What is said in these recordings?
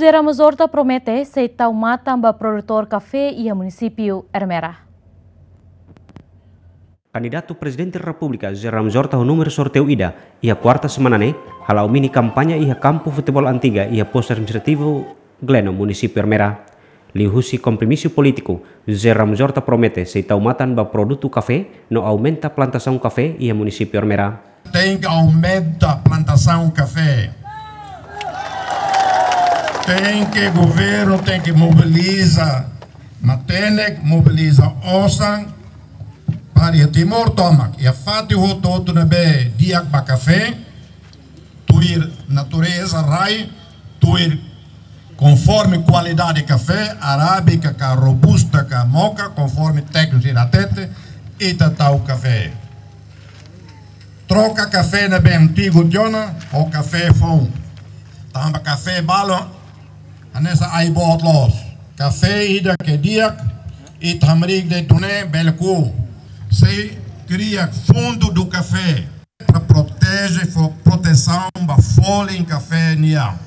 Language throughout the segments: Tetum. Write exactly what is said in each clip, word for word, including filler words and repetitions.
José Ramos Horta promete sei tau matan ba produtór kafé iha munisípiu Ermera. Kandidatu Prezidente Repúblika José Ramos Horta ho númeru sorteiu ida iha kuarta semana ne'e hala'o mini kampaña iha kampu futeból Antiga iha Postu Administrativu Gleno, munisípiu Ermera. Liuhusi kompromisu polítiku, José Ramos Horta promete sei tau matan ba produtu kafé no aumenta plantasaun kafé iha munisípiu Ermera. Tenke aumenta plantasaun kafé. Tenke, governu tenke mobiliza matenek, mobiliza osan para iha Timor tomak, iha fatin hotu-hotu ne'ebé di'ak ba kafé, tuir natureza, rai, tuir konforme kualidade kafé, arábika ka robusta ka moka, konforme tékniku sira hatete, ita tau kafé. Troka kafé ne'ebé antigu tiha ona ho kafé foun. Tanba kafé balu hanesan ai-boot loos. Kafé ida ke di'ak, ita hamriik de'it duni bele ku. Sei kria fundu do kafé para proteje, fó protesaun ba folin kafé nian.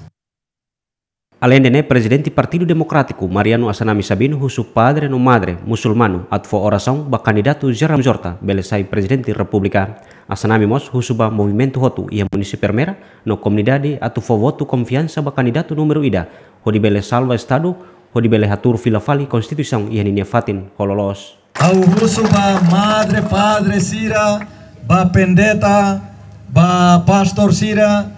Aleinde ne'e, Prezidente Partidu Demokrátiku, Mariano Assanami Sabino, husu padre no madre musulmanu atu fó orasaun ba kandidatu José Ramos Horta bele sai Prezidente Repúblika. Assanami mós husu ba movimentu hotu iha munisípiu Ermera no komunidade atu fó votu konfiansa ba kandidatu númeru ida, hodi bele salva Estadu, hodi bele hatuur fila fali Konstituisaun iha ninia fatin ho loloos. Ha'u husu ba madre, padre sira, ba pendeta, ba pastór sira,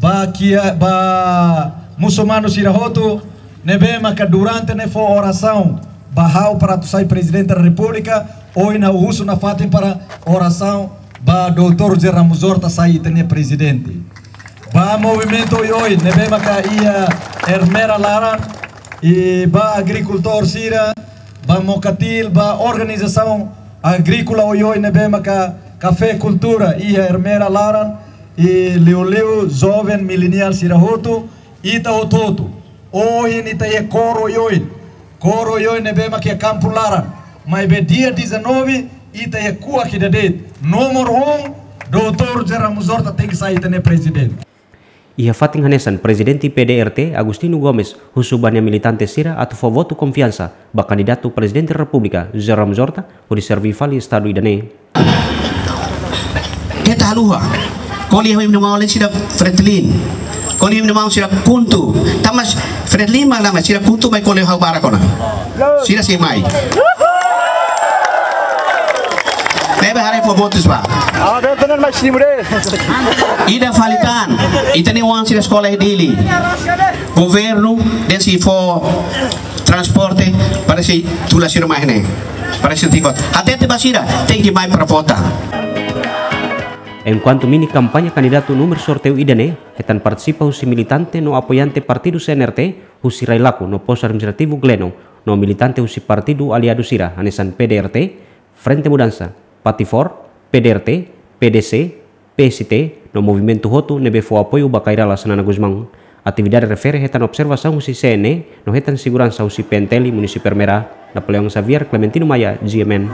ba kia, ba musulmanu sira hotu, ne'ebé maka durante ne'e fó orasaun ba ha'u para atu sai Prezidente da Repúblika, ohin ha'u husu nafatin para orasaun ba Doutór José Ramos Horta sai ita-nia Prezidente. Ba movimentu oioin ne'ebé maka iha Ermera laran, i ba agrikultór sira, ba Mokatil, ba organizasaun agríkola oioin ne'ebé maka kafé kultura iha Ermera laran, i liuliu joven mileniál sira hotu, ita hotu-hotu. Ohin ita iha kór oioin. Kór oioin ne'ebé maka iha kampu laran. Maibé dia dezanove, ita iha kuak ida de'it. Númeru um, Doutór José Ramos Horta tenke sai ita-nia Prezidente. Iha fatin hanesan, Prezidente P D R T, Agostinho Gomes, husu ba nia militante sira atu fó votu konfiansa ba kandidatu Prezidente Repúblika, José Ramos Horta, hodi serví fali Estadu ida-ne'e. Keta haluha. Ko'alia ho imi-nia maun sira Fretilin. Ko'alia ho imi-nia maun sira KHUNTO. Tanba Fretilin mak la mai, sira KHUNTO mai ko'alia ho ha'u barak ona. Sira sei mai. Ne'ebé haree fó votus ba. Ah, betul, benar, Mas Timur, eh. Ida fali tan, ita-nia oan sira eskola iha Dili. Governu dehan sei fó transporte para sei tula sira mai ne'e. Para sei tiba. Hatete ba sira, tenke mai para vota. Enkuantu mini kampaña kandidatu númeru sorteiu ida-ne'e, hetan partisipa husi militante no apoiante partidu C N R T, husi Railaco no Postu Administrativu Gleno, no militante husi partidu aliadu sira, hanesan P D R T, Frente Mudansa, Patifor, P D R T, P D C, P S T, no movimentu hotu ne'ebé fó apoiu ba Kay Rala Xanana Gusmão. Atividade refere hetan observasaun husi C N E, no hetan seguransa husi P N T L munisípiu Ermera. Napoleão Xavier, Clementino Maia, G M N.